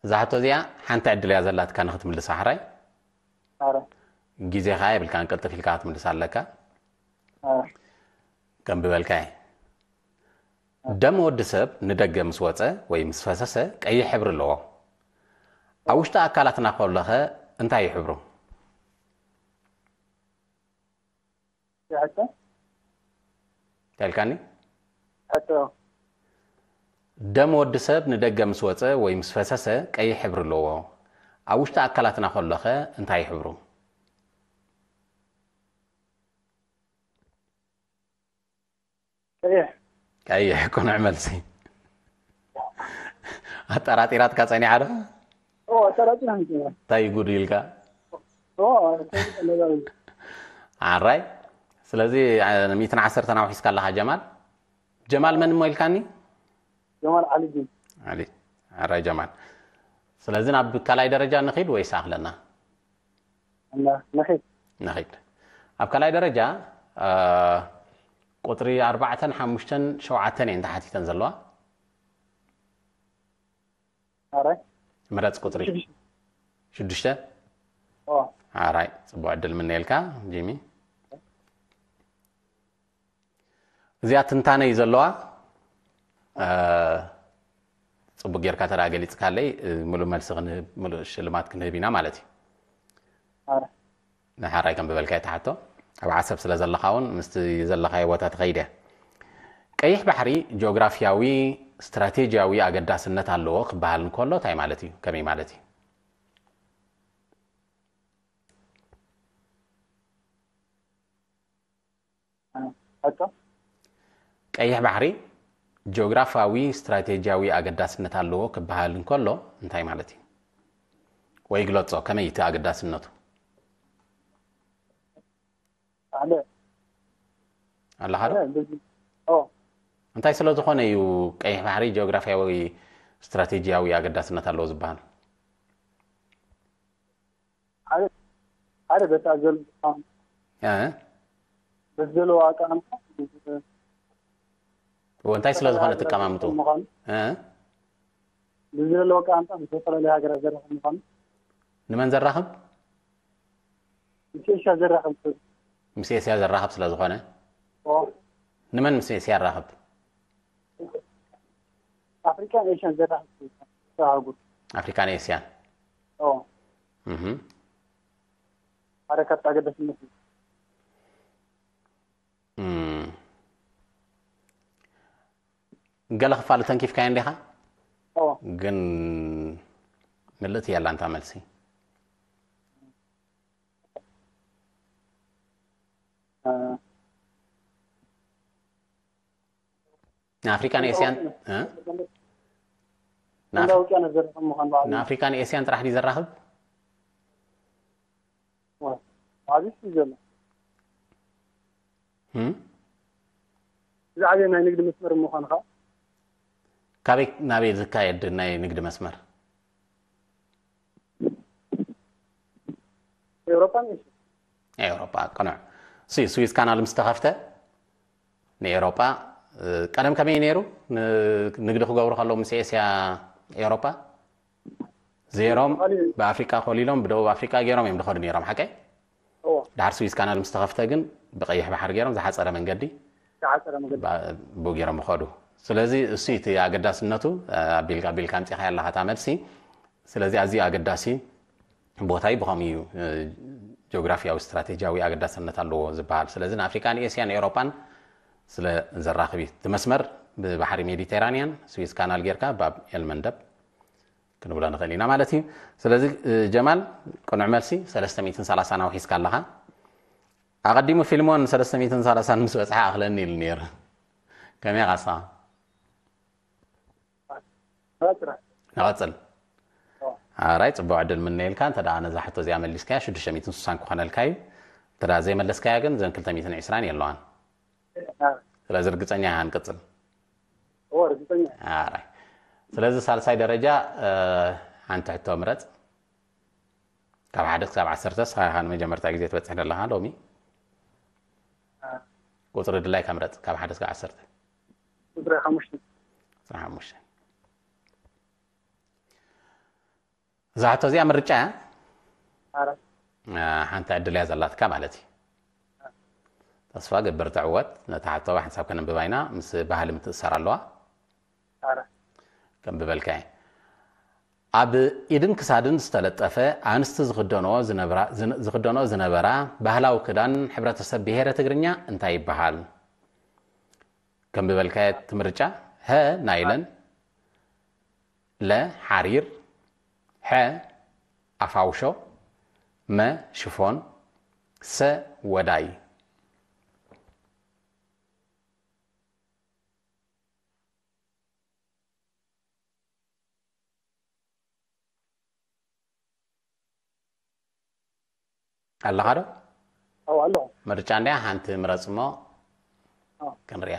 እዛ ሕቶ እዚኣ ሓንቲ ዕድል እያ ዘላትካ ንክትምልሳ ሕራይ ኣረ ግዜ ከዓ የብልካን ቅልጥፍ ኢልካ ክትምልሳ ኣለካ ኣረ ከንብበልካ እየ ደም ወዲ ሰብ ንደገ ምስ ወፀ ወይ ምስ ፈሰሰ ቀይሕ ሕብሪ ኣለዎ ኣብ ውሽጢ ኣካላትና ከሎኸ እንታይ እዩ ሕብሩ ሕቶ ተልካኒ ሕቶ ደም ወዲ ሰብ ንደገ ምስ ወፀ ወይ ምስ ፈሰሰ ቀይሕ ሕብሪ ኣለዎ ኣብ ውሽጢ ኣካላትና ከሎኸ እንታይ ሕብሩ ቀይሕ ቀይሕ ቅኑዕ መልሲ ኣጠራጢራትካ ፀኒሓ ዶ ኦ ኣጠራጢራ እንታይ ጉድ ኢልካ ኣራይ ስለዚ ሚትን ዓሰርተን ኣውሒስካ ኣለካ ጀማል ጀማል መን እሞ ኢልካኒ ጀማል ዓሊዲን ኣራይ ጀማል ስለዚ ናብ ካልኣይ ደረጃ ንኺድ ወይስ ኣኽለና እና ንኺድ ንኺድ ኣብ ካልኣይ ደረጃ ቁፅሪ ኣርባዕተን ሓሙሽተን ሸውዓተን እየን ተሓቲተን ዘለዋ ኣራይ ምረፅ ቁፅሪ ሽዱሽተ ኣራይ ፅቡቅ ዕድል ምነየልካ ጂሚ እዚኣ ትንታነ እዩ ዘለዋ ጽቡቅ ጌርካ ተደኣ ገሊጽካለይ፣ እ፣ ምሉእ መልሲ ክንህብ፣ ምሉእ ሽልማት ክንህብ ኢና ማለት እዩ። ኣረ ንሓራይ ከም ዝበልካዮ ትሓቶ ኣብ ዓሰብ ስለ ዘለኻ እውን ምስቲ ዘለኻዮ ቦታ ትኸይድ እያ። ቀይሕ ባሕሪ ጂኦግራፊያዊ ስትራቴጂያዊ ኣገዳስነት ኣለዎ ክበሃል እንከሎ እንታይ ማለት እዩ? ከመይ ማለት እዩ? ሕቶ ቀይሕ ባሕሪ ጂኦግራፊያዊ ስትራቴጂያዊ ኣገዳስነት ኣለዎ ክበሃል እንከሎ እንታይ ማለት እዩ? ወይ ግለጾ፣ ከመይ እቲ ኣገዳስነቱ? ኣለ ኣለኻ ዶ? ኣለ ብዙ ኦ እንታይ ስለ ዝኾነ እዩ ቀይሕ ባሕሪ ጂኦግራፊያዊ ስትራቴጂያዊ ኣገዳስነት ኣለዎ ዝበሃል? ሓደ ሓደ በታ ዘሎ እ? በዚ ዘለዎ ኣቀማምጣ እዎ፣ እንታይ ስለ ዝኾነ ትቀማምጡ? ምዃኑ እ? በዚ ዘለዎ ኣቀማምጣ ምስ ዝተፈላለዩ ሃገራት ዘራኽብ ምዃኑ ንመን ዘራኽብ? ምስ ኤሽያ ዘራኽብ ምስ ኤስያ ዘራኽብ ስለ ዝኾነ። ኦ ንመን ምስ ኤስያ ኣራኽብ? ኣፍሪካን ኤሽያን ዘራኽብ ተሃጉር ኣፍሪካን ኤስያን። ኦ እህ። ሓደ ካብቲ ኣገዳስነት እዩ። እም። ገለ ክፋሉ ተንኪፍካዮ እንዲኻ? ኦ ግን ምልእቲ የላ እንታ መልሲ። እ፣ ንኣፍሪካን ኤስያን እ? እንዳ ውቅያኖስ ዘራኽብ ምዃኑ ባዕሉ ንኣፍሪካን ኤስያን ጥራሕ ድዩ ዘራኽብ? ዓብዪ እዩ ዘሎ። እም? ዝዓበየ ናይ ንግዲ መስመር ምዃኑ ከዓ ካበይ ናበይ ዝካየድ ናይ ንግዲ መስመር? ኤውሮጳን ኤሽያን ኤውሮጳ ቅኑዕ። ሲ ስዊዝ ካናል ምስ ተኸፍተ ንኤውሮጳ እ፣ ቀደም ከመይ ነይሩ? ን-፣ ንግዲ ክገብሩ ከለዉ ምስ ኤስያ ኤውሮጳ ዘይሮም ብኣፍሪቃ ኮሊሎም ብደቡብ ኣፍሪቃ ገይሮም እዮም ዝኸዱ ነይሮም፣ ሓቀይ? እዎ ድሓር ስዊዝ ካናል ምስ ተኸፍተ ግን ብቀይሕ ባሕሪ ገይሮም ዝሓፀረ መንገዲ ዝሓፀረ መገዲ ባ-፣ ብኡ ገይሮም ይኸዱ። ስለዚ እሱ እቲ ኣገዳስነቱ እ፣ ኣቢልካ ኣቢልካ ኣምፂኻያ ኣለኻ እታ መልሲ። ስለዚ ኣዝዩ ኣገዳሲ ቦታ እዩ፣ ብኸምኡ እዩ እ፣ ጂኦግራፊያዊ ስትራቴጂያዊ ኣገዳስነት ኣለዎ ዝበሃል። ስለዚ ንኣፍሪቃን ኤስያን ኤውሮጳን ስለ ዘራኽብ እዩ። እቲ መስመር ብባሕሪ ሜዲቴራንያን ስዊዝ ካናል ጌርካ ባብ ኤልመንደብ ክንብሎ ንኽእል ኢና ማለት እዩ። ስለዚ እ፣ ጀማል ቅኑዕ መልሲ ሰለስተ ሚእትን ሰላሳን ኣውሒስካ ኣለኻ። ኣቐዲሙ ፊልሞን ሰለስተ ሚእትን ሰላሳን ምስ በጽሓ ኣኽለኒ ኢሉ ነይሩ። ከመይ ኢኻ ንስኻ? ጥራሕ ንቐጽል። ኣራይ ጽቡቕ ዕድል ምነየልካ። እንተ ደኣ ነዛ ሕቶ እዚኣ መሊስካያ ሽዱሽተ ሚእትን ስሳን ክኾነልካ እዩ። እንተ ደኣ ዘይመለስካያ ግን ዘን ክልተ ሚእትን ዕስራን የለዋን። ስለዚ ርግጸኛ ኢኻ ንቅጽል። እዎ ርግጸኛ እየ። ኣራይ ስለዚ ሳልሳይ ደረጃ እ፣ ሓንቲ ሕቶ ምረጽ። ካብ ሓደ ክሳብ ዓሰርተ ንስኻ ኢኻ ንመጀመርታ ግዜ ትበጽሕ ዘለኻ ሎሚ። ቁጽሪ ድላይካ ምረጽ ካብ ሓደ ክሳብ ዓሰርተ። ቁጽሪ ሓሙሽተ። ቁጽሪ ሓሙሽተ። እዛ ሕቶ እዚኣ ምርጫ እያ። ኣራት እ፣ ሓንቲ ዕድል እያ ዘላትካ ማለት እዩ። ተስፋ ገብር ትዕወት። ነታ ሕቶ ብሓንሳብ ከነንብባ ኢና። ምስ ባህሊ ምትእስሳር ኣለዋ። ኣራት ከንብበልካ እየ። ኣብ ኢድን ክሳድን ዝተለጠፈ ኣንስቲ ዝኽደንኦ ዝነብራ-፣ ዝን-፣ ዝኽደንኦ ዝነበራ ባህላዊ ክዳን ሕብረተሰብ ብሄረ ትግርኛ እንታይ ይበሃል? ከንብበልካ እየ እቲ ምርጫ። ሀ ናይለን፣ ለ ሓሪር፣ ሐ ኣፋውሾ፣ መ ሽፎን፣ ሰ ወዳይ። ኣለኻ ዶ? ኣው ኣሎ ምርጫ እንድያ ሓንቲ ምረጽ እሞ ኣው። ክንሪኣ።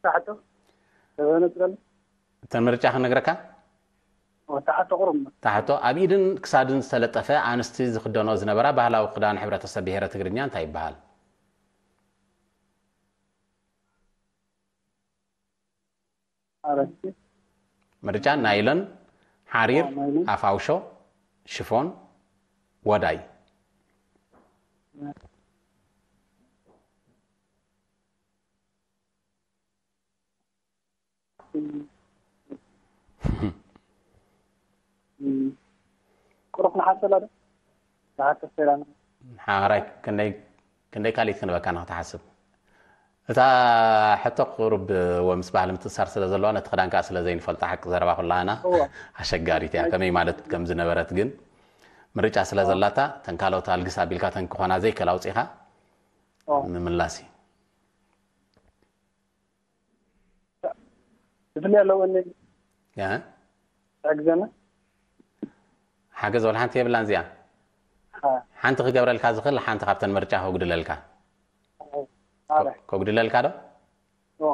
ታሕቶ ተበነጽረል እተን ምርጫ ክነግረካ። ታሕቶ ቁሩብ ታሕቶ ኣብ ኢድን ክሳድን ዝተለጠፈ ኣንስቲ ዝኽደኖ ዝነበራ ባህላዊ ክዳን ሕብረተሰብ ብሄረ ትግርኛ እንታይ ይበሃል? ኣረስቲ ምርጫ ናይለን፣ ሓሪር፣ ናይለን። ኣፋውሾ፣ ሽፎን፣ ወዳይ። ናይ ቁሩብ ንሓሰላ ዶ? ንሓሰላ። ሓራይ ክንደይ ክንደይ ካልኢት ክንበካ ንክትሓስብ? እታ ሕቶ ቁሩብ ወ ምስ ባህሊ ምትእሳር ስለ ዘለዋ፣ ነቲ ክዳን ከኣ ስለ ዘይንፈልጦ፣ ሓቂ ዘረባ ኩላና እወ። ኣሸጋሪት እያ። ከመይ ማለት ከም ዝነበረት ግን ምርጫ ስለ ዘላታ፣ ተን ካልኦት ኣልግስ ኣቢልካ ተን ክኾና ዘይከል ኣውጺኻ እወ። ምምላስ እዩ። ብፍላይ ኣለዎ እኒ ያ? ትሕግዘና? ሓገዝ ወላ ሓንቲ የብላን እዚኣ። ሓንቲ ክገብረልካ ዝኽእል ሓንቲ ካብተን ምርጫ ከጉድለልካ። ኣረ። ከጉድለልካ ዶ? ኦ።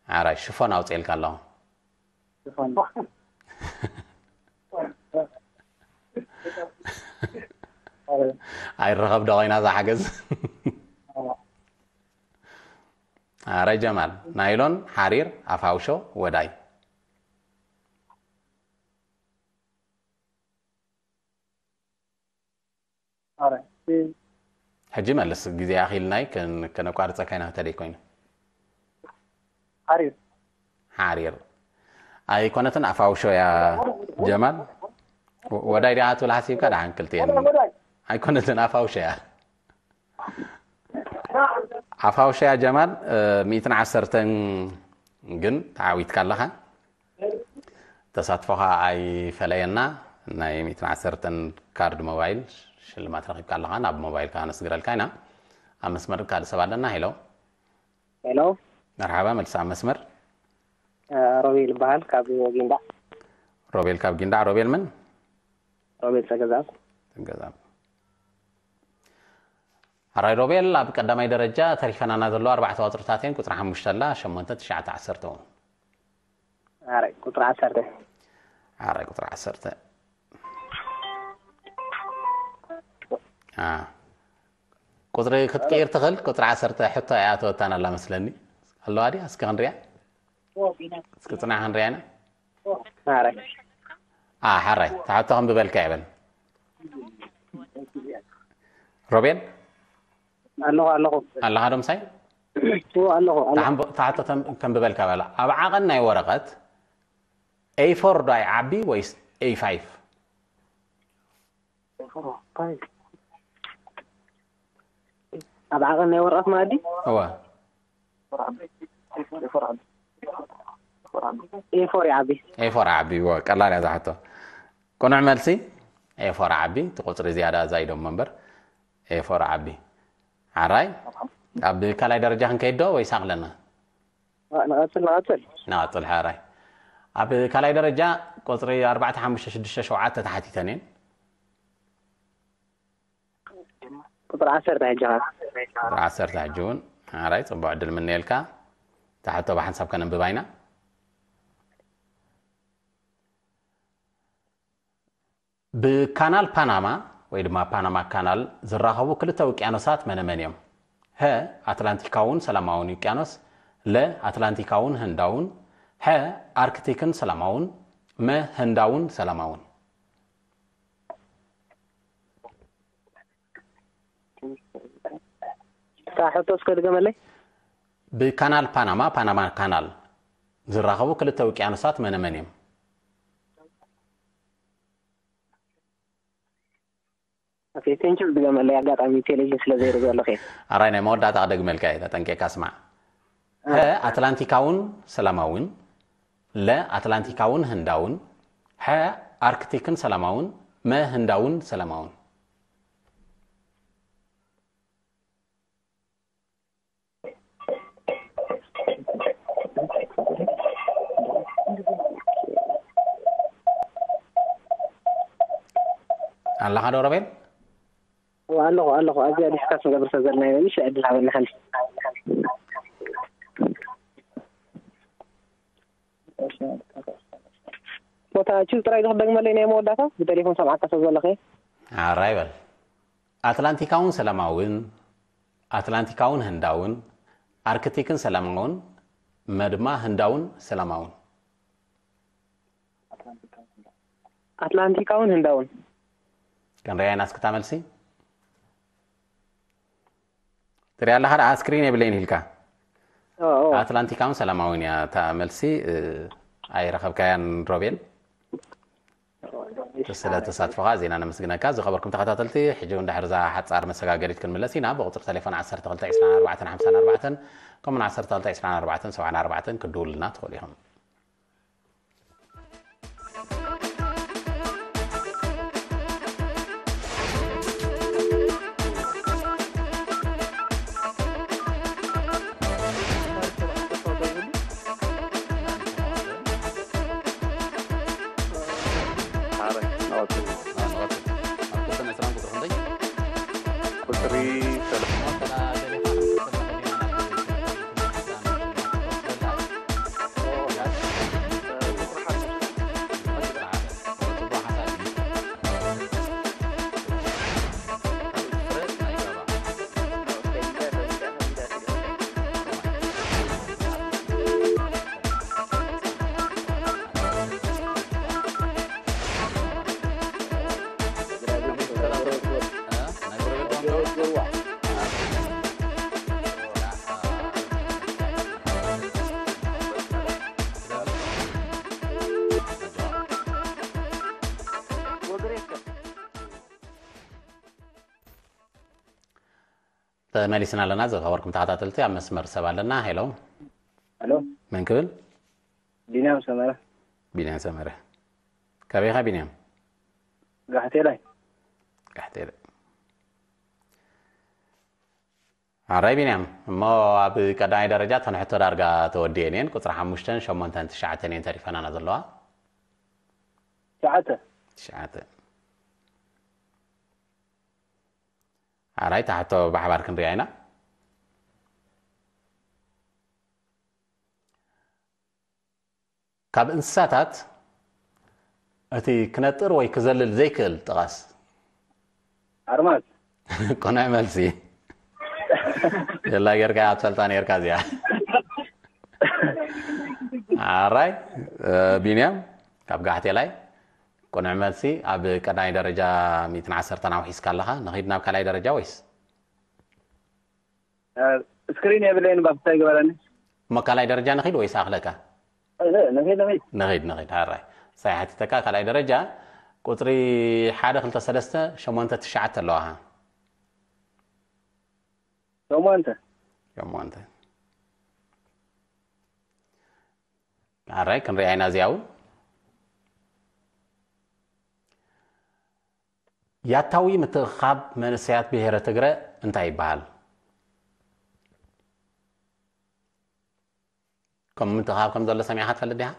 ኣራይ ሽፎን ኣውፅኤልካ ኣለኹ። ሽፎን። ኣረ። ኣይረኸብ ዶ ኮይና እዛ ሓገዝ? ኣረ። ኣረ ጀማል፣ ናይሎን፣ ሓሪር፣ ኣፋውሾ፣ ወዳይ። ኣረ። ሕጂ መልስ፣ ግዜ ኣኺልናይ ከን-፣ ከነቋርጸካ ኢና፣ እንተ ደይ ኮይኑ። ሓሪር። ሓሪር። ኣይኮነትን ኣፋውሾ እያ ጀማል። ወ-፣ ወዳይ ዲኻ ትብል ሓሲብካ ደሓን ክልቲኤን። ወዳይ፣ ወዳይ። ኣይኮነትን ኣፋውሾ እያ። ኣፋውሸያ ጀማል፣ እ፣ ሚእትን ዓሰርተን ግን ተዓዊትካ ኣለኻ። ተሳትፎኻ ኣይፈለየና። ናይ ሚእትን ዓሰርተን ካርድ ሞባይል ሽልማት ረኺብካ ኣለኻ። ናብ ሞባይልካ ከነስግረልካ ኢና። ኣብ መስመር ካልእ ሰብ ኣለና። ሄሎ። ሄሎ። መርሓባ፣ መልሲ ኣብ መስመር። እ፣ ሮቤል ይበሃል፣ ካብ ጊንዳዕ። ሮቤል ካብ ጊንዳዕ። ሮቤል ምን? ሮቤል ጸገዛብ። ጸገዛብ። ኣራይ ሮቤል፣ ኣብ ቀዳማይ ደረጃ ተሪፈናና ዘለዋ ኣርባዕተ ቁጽርታት እየን። ቁጽሪ ሓሙሽተ ኣላ፣ ሸሞንተ፣ ትሽዓተ፣ ዓሰርተ እውን። ኣራይ ቁጽሪ ዓሰርተ። ኣራይ ቁጽሪ ዓሰርተ። አ። ቁጽሪ ክትቅይር ትኽእል፣ ቁጽሪ ዓሰርተ ሕቶ ኣይኣተወታን ኣላ መስለኒ። ኣለዋ ድያ? እስኪ ክንሪኣ። እስኪ ጽናሕ ክንሪኣ ኢና። ኣረ። አ፣ ሓራይ፣ ተሓቶ ከም ብበልካ ይበል። ሮቤል? ኣለኹ፣ ኣለኹ። ኣለኻ ዶ ምሳይ? እዎ፣ ኣለኹ፣ ኣለኹ። ተሓምቦ-፣ ተሓቶ ተም-፣ ከም ብበልካ በላ። ኣብ ዓቐን ናይ ወረቐት ኤ ፎር ዶ ኣይዓቢ ወይስ ኤ ፋይቭ? ኣብ ዓቐን ናይ ወረቐት መኣዲ? እወ። ኤ ፎር ይዓቢ። ኤ ፎር ይዓቢ፣ እወ፣ ቀላል እያ እዛ ሕቶ። ቅኑዕ መልሲ፣ ኤ ፎር ይዓቢ፣ እቲ ቁጽሪ ዝያዳ ኣዛይዶም እምበር፣ ኤ ፎር ይዓቢ። ሓራይ፣ ኣብ ካልኣይ ደረጃ ክንከይድ ዶ ወይስ ኣቕለና? ንቐጽል፣ ንቐጽል። ንቐጽል፣ ሓራይ። ኣብ ካልኣይ ደረጃ ቁጽሪ ኣርባዕተ፣ ሓሙሽተ፣ ሽዱሽተ፣ ሸውዓተ ተሓቲተን እየን። ቁጽሪ ዓሰርተ ሕጂ ኸ? ቁጽሪ ዓሰርተ ሕጂ እውን። ሓራይ፣ ጽቡቕ ዕድል ምነየልካ። እታ ሕቶ ብሓንሳብ ከነንብባ ኢና። ብካናል ፓናማ ወይ ድማ ፓናማ ካናል ዝራኸቡ ክልተ ውቅያኖሳት መነመን እዮም? ሀ፣ ኣትላንቲካውን ሰላማውን ውቅያኖስ፣ ለ፣ ኣትላንቲካውን ህንዳውን፣ ሐ፣ ኣርክቲክን ሰላማውን፣ መ፣ ህንዳውን ሰላማውን። እታ ሕቶ እስከ ድገመለይ። ብካናል ፓናማ፣ ፓናማ ካናል፣ ዝራኸቡ ክልተ ውቅያኖሳት መነመን እዮም? ኦኬ፣ ቴንኪው፣ ድገመለይ፣ ኣጋጣሚ ቴሌቪዥን ስለ ዘይርኢ ዘለኹ እየ። ኣራይ፣ ናይ መወዳእታ ክደግመልካ እየ፣ ተጠንቂቕካ ስማዕ። አ። ሀ፣ ኣትላንቲካውን ሰላማውን፣ ለ፣ ኣትላንቲካውን ህንዳውን፣ ሐ፣ ኣርክቲክን ሰላማውን፣ መ፣ ህንዳውን ሰላማውን። ኣለኻ ዶ ሮቤል? እወ፣ ኣለኹ፣ ኣለኹ። ኣብዚኣ ዲስካስ ንገብር ስለ ዘለና ኢና። እሺ፣ ዕድል ሃበኒ ሓንቲ። ቦታ ቹዝ ጥራይ ዶ ክደግመለይ ናይ መወዳእታ? ብቴሌፎን ሰምዓካ ስለ ዘለኹ እየ። ኣራይ በል። ኣትላንቲካውን ሰላማውን፣ ኣትላንቲካውን ህንዳውን፣ ኣርክቲክን ሰላማውን፣ መ ድማ ህንዳውን ሰላማውን። ኣትላንቲካውን ህንዳውን። ክንሪኣ ኢና እስክታ መልሲ። ትሪኣ ኣለኻ ደኣ ስክሪን የብለይን ኢልካ። ኦ፣ ኦ። ኣትላንቲካውን ሰላማውን እያ እታ መልሲ። እ፣ ኣይረኸብካያን ሮቤል? ስለ ተሳትፎኻ ዜና ነመስግነካ። ዝኸበርኩም ተኸታተልቲ፣ ሕጂ እውን ድሕሪ እዛ ሓጻር መሰጋገሪት ክንምለስ ኢና። ብቁጽሪ ቴሌፎን ዓሰርተ ክልተ ዕስራን ኣርባዕተን ሓምሳን ኣርባዕተን፣ ከምኡውን ዓሰርተ ክልተ ዕስራን ኣርባዕተን ሰብዓን ኣርባዕተን ክትድውሉልና ትኽእሉ ኢኹም። ቁጽሪ ተመሊስና ኣለና። ዝኸበርኩም ተኸታተልቲ፣ ኣብ መስመር ሰብ ኣለና። ሄሎ። ሄሎ። መን ክብል? ቢንያም ሰመረ። ቢንያም ሰመረ። ካበይ ኢኻ ቢንያም? ጋሕቴላይ። ጋሕቴላይ። ኣራይ ቢንያም፣ እሞ ኣብ ቀዳማይ ደረጃ እተን ሕቶ ዳርጋ ተወዲኤን እየን። ቁጽሪ ሓሙሽተን ሸሞንተን ትሽዓተን እየን ተሪፈናና ዘለዋ። ትሽዓተ። ትሽዓተ። ኣራይ፣ እታ ሕቶ ብሓባር ክንሪኣ ኢና። ካብ እንስሳታት እቲ ክነጥር ወይ ክዘልል ዘይክእል ጥቐስ። ኣርማዝ። ቅኑዕ መልሲ። የላ ጌርካ እያ ትፈልጣ ኔርካ እዚኣ። ኣራይ፣ እ፣ ቢንያም ካብ ጋሕቴላይ ቅኑዕ መልሲ። ኣብ ቀዳማይ ደረጃ ሚእትን ዓሰርተን ኣውሒስካ ኣለኻ። ንኺድ ናብ ካልኣይ ደረጃ ወይስ? እ፣ ስክሪን የብለይን፣ ባፍታ ይግበረኒ። እሞ ካልኣይ ደረጃ ንኺድ ወይስ ኣኽለካ? እ፣ ንኺድ፣ ንኺድ። ንኺድ፣ ንኺድ። ኣራይ። ሳይ ሓቲተካ ካልኣይ ደረጃ ቁጽሪ ሓደ፣ ክልተ፣ ሰለስተ፣ ሸሞንተ፣ ትሽዓተ ኣለዋኻ። ሸሞንተ። ሸሞንተ። ኣራይ፣ ክንሪኣ ኢና እዚኣ እውን። ያታዊ ምትእኻብ መንእሰያት ብሄረ ትግረ እንታይ ይበሃል? ከም ምትእኻብ ከም ዘሎ ሰሚዕኻ ትፈልጥ ዲኻ?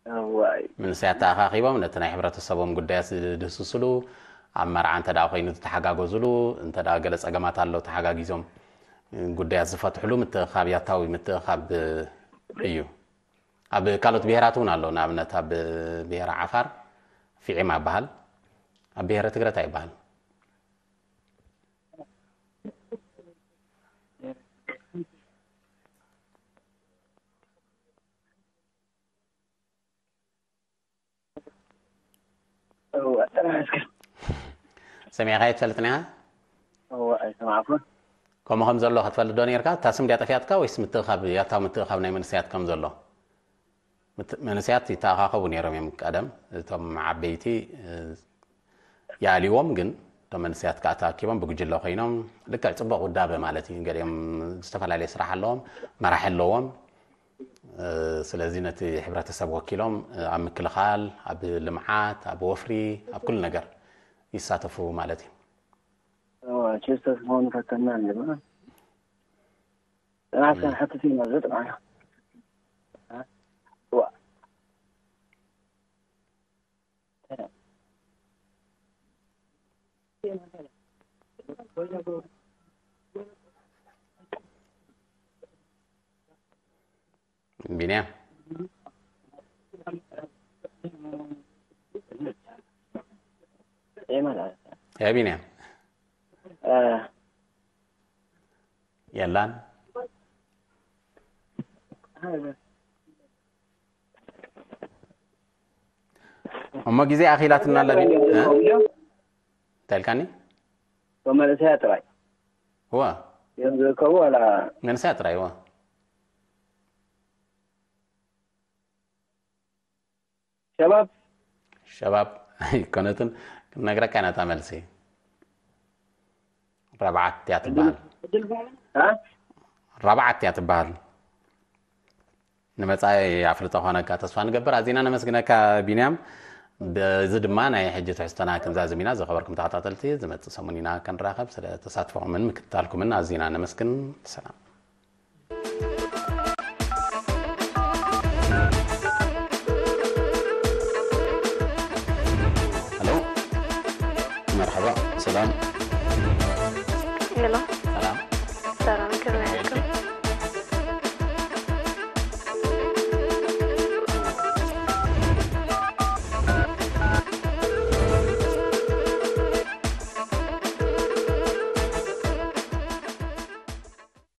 እዋይ። መንእሰያት ተኣኻኺቦም ነቲ ናይ ሕብረተሰቦም ጉዳያት ዝድህስስሉ፣ ኣብ መርዓ እንተ ደኣ ኮይኑ ዝተሓጋገዝሉ፣ እንተ ደኣ ገለ ጸገማት ኣሎ ተሓጋጊዞም ጉዳያት ዝፈትሕሉ ምትእኻብ ያታዊ ምትእኻብ እዩ። ኣብ ካልኦት ብሄራት እውን ኣሎ። ንኣብነት ኣብ ብሄረ ዓፋር ፊዒማ ይበሃል። ኣብ ብሄረ ትግረ እንታይ ይበሃል? እወ፣ ጥራሕ እስከ። ሰሚዕካዮ ትፈልጥን ኢኻ? እወ፣ ኣይሰማዕኩን። ከምኡ ከም ዘሎ ክትፈልጥ ዶ ነይርካ? እታ ስም ድያ ጠፊኣትካ ወይስ ምትእኻብ፣ ያታዊ ምትእኻብ ናይ መንእሰያት ከም ዘሎ? ምት-፣ መንእሰያት ይተኣኻኸቡ ነይሮም እዮም ቀደም። እቶም ዓበይቲ፣ እ፣ ይኣልይዎም፣ ግን እቶም መንእሰያት ከኣ ተኣኪቦም ብጉጅለ ኮይኖም፣ ልክዕ ጽቡቕ ውዳበ ማለት እዩ። ገሊኦም ዝተፈላለየ ስራሕ ኣለዎም፣ መራሒ ኣለዎም። እ፣ ስለዚ ነቲ ሕብረተሰብ ወኪሎም፣ እ፣ ኣብ ምክልኻል፣ ኣብ ልምዓት፣ ኣብ ወፍሪ፣ ኣብ ኩሉ ነገር ይሳተፉ ማለት እዩ። እዋ፣ ቸስተስ መሆኑ ፈተና ኣለና። ጥናት እም። ክንሓትት ኢና፣ እዚ ጥናት። እዋ። ቢንያም። ያ ቢንያም። እ። የላን። እሞ ግዜ ኣኺላትና ኣላ ቢንያም። እ? እንታይ ኢልካኒ? መንእሰያት ጥራይ። እዋ። እዮም ዝርከቡ ዋላ? መንእሰያት ጥራይ፣ እዋ። ሸባብ ሸባብ ኣይኮነትን። ክንነግረካ ኢና እታ መልሲ። ራብዓት እያ ትበሃል። ዕድል ፋይዳ እ? ራብዓት እያ ትበሃል። ንመጻኢ ኣፍልጦ ኾነካ ተስፋ ንገብር። ኣዚና ነመስግነካ ቢንያም። በዚ ድማ ናይ ሕጂ ትሕዝቶና ክንዛዝም ኢና። ዝኸበርኩም ተኸታተልቲ፣ ዝመጽእ ሰሙን ኢና ክንራኸብ። ስለ ተሳትፎኹምን ምክትታልኩምን ኣዚና ነመስግን። ሰላም። ሄሎ፣ መርሓባ፣ ሰላም። ሄሎ ሰላም።